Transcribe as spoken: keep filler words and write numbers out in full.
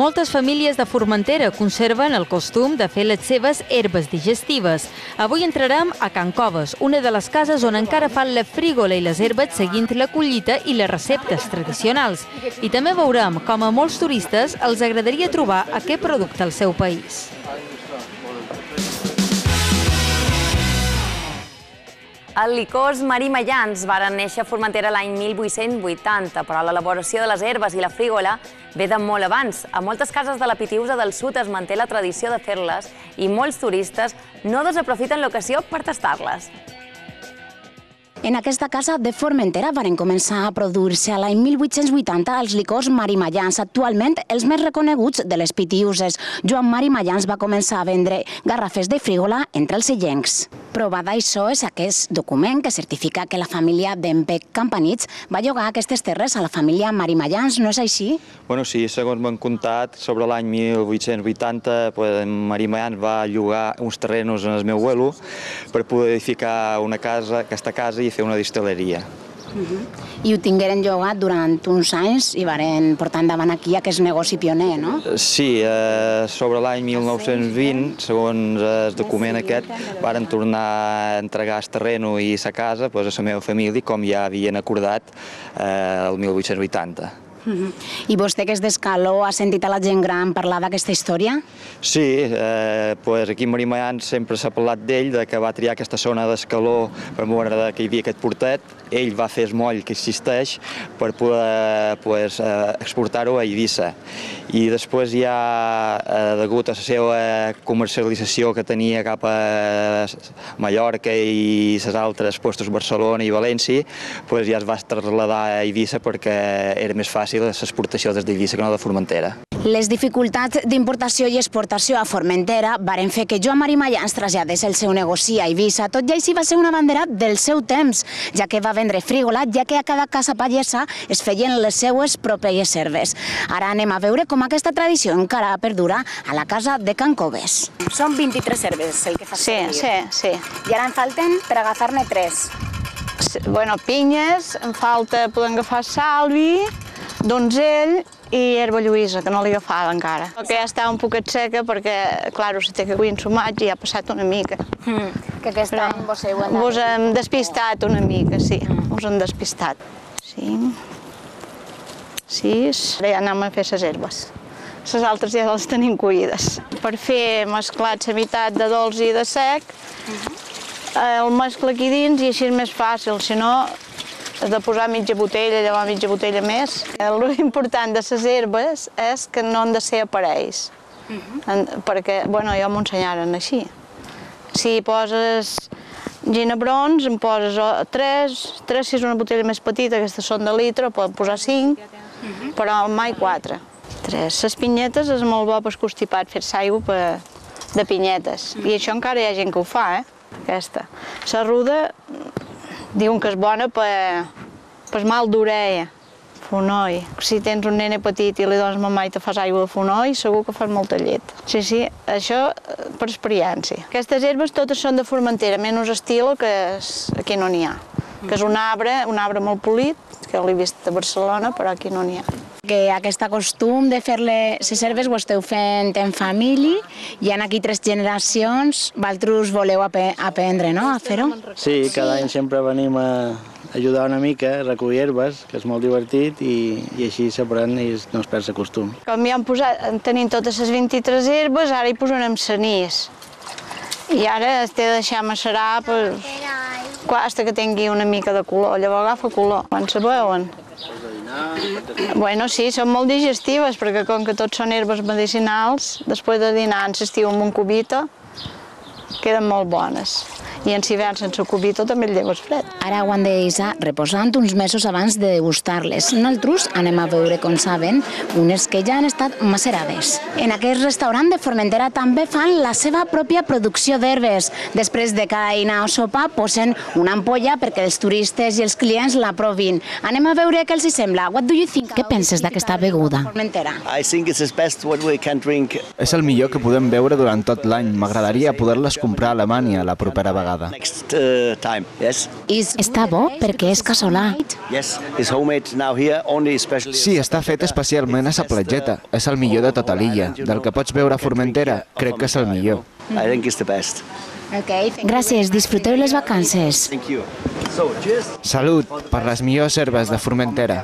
Moltes famílies de Formentera conserven el costum de fer les seves herbes digestives. Avui entrarem a Can Coves, una de les cases on encara fan la frígola i les herbes seguint la collita i les receptes tradicionals. I també veurem com a molts turistes els agradaria trobar aquest producte al seu país. Els licors Marimellans varen néixer a Formentera l'any mil vuit-cents vuitanta, però l'elaboració de les herbes i la frígola ve de molt abans. A moltes cases de la Pitiusa del Sud es manté la tradició de fer-les i molts turistes no desaprofiten l'ocasió per tastar-les. En aquesta casa de Formentera varen començar a produir-se a l'any mil vuit-cents vuitanta els licors Marimellans, actualment els més reconeguts de les Pitiuses. Joan Marimellans va començar a vendre garrafes de frígola entre els illencs. Prova d'això és aquest document que certifica que la família d'en Bec Campanits va llogar aquestes terres a la família Marimellans, no és així? Bueno, sí, segons m'han contat, sobre l'any mil vuit-cents vuitanta Marimellans va llogar uns terrenos en el meu abuelo per poder edificar una casa, aquesta casa i fer una distil·leria. I ho tingueren llogat durant uns anys i varen portar endavant aquí aquest negoci pioner, no? Sí, sobre l'any mil nou-cents vint, segons el document aquest, varen tornar a entregar el terreno i la casa a la meva família, com ja havien acordat el mil vuit-cents vuitanta. I vostè, que és d'Escaló, ha sentit a la gent gran parlar d'aquesta història? Sí, aquí a Marimellans sempre s'ha parlat d'ell, que va triar aquesta zona d'Escaló per veure que hi havia aquest portet. Ell va fer el moll que existeix per poder exportar-ho a Eivissa. I després ja, degut a la seva comercialització que tenia cap a Mallorca i les altres puestos Barcelona i València, ja es va traslladar a Eivissa perquè era més fàcil l'exportació des d'Eivissa que no de Formentera. Les dificultats d'importació i exportació a Formentera varen fer que Joan Marimellans traslladés el seu negoci a Eivissa. Tot i així va ser una bandera del seu temps, ja que va vendre frígola, ja que a cada casa pagesa es feien les seues pròpies herbes. Ara anem a veure com aquesta tradició encara perdura a la casa de Can Coves. Són vint-i-tres herbes el que fa servir. Sí, sí, sí. I ara en falten per agafar-ne tres. Bueno, pinyes, en falta, podem agafar salvi, donzell i herba lluïsa, que no l'he agafada encara. Que ja està un poquet seca perquè, clar, si té que cuir ensumatge ja ha passat una mica. Que aquest any vos heu anat... Vos hem despistat una mica, sí, vos hem despistat. Cinc, sis... Ara ja anem a fer les herbes. Les altres ja les tenim cuides. Per fer mesclat la meitat de dolç i de sec, el mescla aquí dins i així és més fàcil, si no has de posar mitja botella, llevar mitja botella més. L'important de les herbes és que no han de ser aparells, perquè, bueno, ja m'ho ensenyaren així. Si poses ginebrons, en poses tres, tres si és una botella més petita, aquestes són de litre, poden posar cinc, però mai quatre. Tres. Les pinyetes és molt bo per constipat, fer-se aigua de pinyetes, i això encara hi ha gent que ho fa, eh? Aquesta. La ruda diuen que és bona per mal d'orella, fonoll. Si tens un nene petit i li dones mamà i te fas aigua de fonoll, segur que fas molta llet. Sí, sí, això per experiència. Aquestes herbes totes són de Formentera, menys estilo, que aquí no n'hi ha. Que és un arbre, un arbre molt polit, que l'he vist a Barcelona, però aquí no n'hi ha. Que aquest costum de fer les herbes ho esteu fent en família, hi ha aquí tres generacions, vosaltres voleu aprendre, no?, a fer-ho? Sí, cada any sempre venim a ajudar una mica, a recollir herbes, que és molt divertit, i així s'aprèn i no es perd el costum. Com ja hem posat, tenim totes les vint-i-tres herbes, ara hi posarem cenís. I ara es té de deixar macerar fins que tingui una mica de color, llavors agafa color. Quan se veuen? Bueno, sí, són molt digestives, perquè com que tots són herbes medicinals, després de dinar en l'estiu amb un cubito, queden molt bones. I en hivern sense cubito també el lleves fred. Ara ho han de deixar reposant uns mesos abans de degustar-les. Nosaltres anem a veure com saben unes que ja han estat macerades. En aquest restaurant de Formentera també fan la seva pròpia producció d'herbes. Després de cada dinar o sopa posen una ampolla perquè els turistes i els clients la provin. Anem a veure què els hi sembla. What do you think? Què penses d'aquesta beguda? Formentera. És el millor que podem beure durant tot l'any. M'agradaria poder-les comprar a Alemanya la propera vegada. Està bo perquè és casolà. Sí, està fet especialment a sa platgeta. És el millor de tota l'illa. Del que pots veure a Formentera, crec que és el millor. Gràcies, disfruteu les vacances. Salut per les millors herbes de Formentera.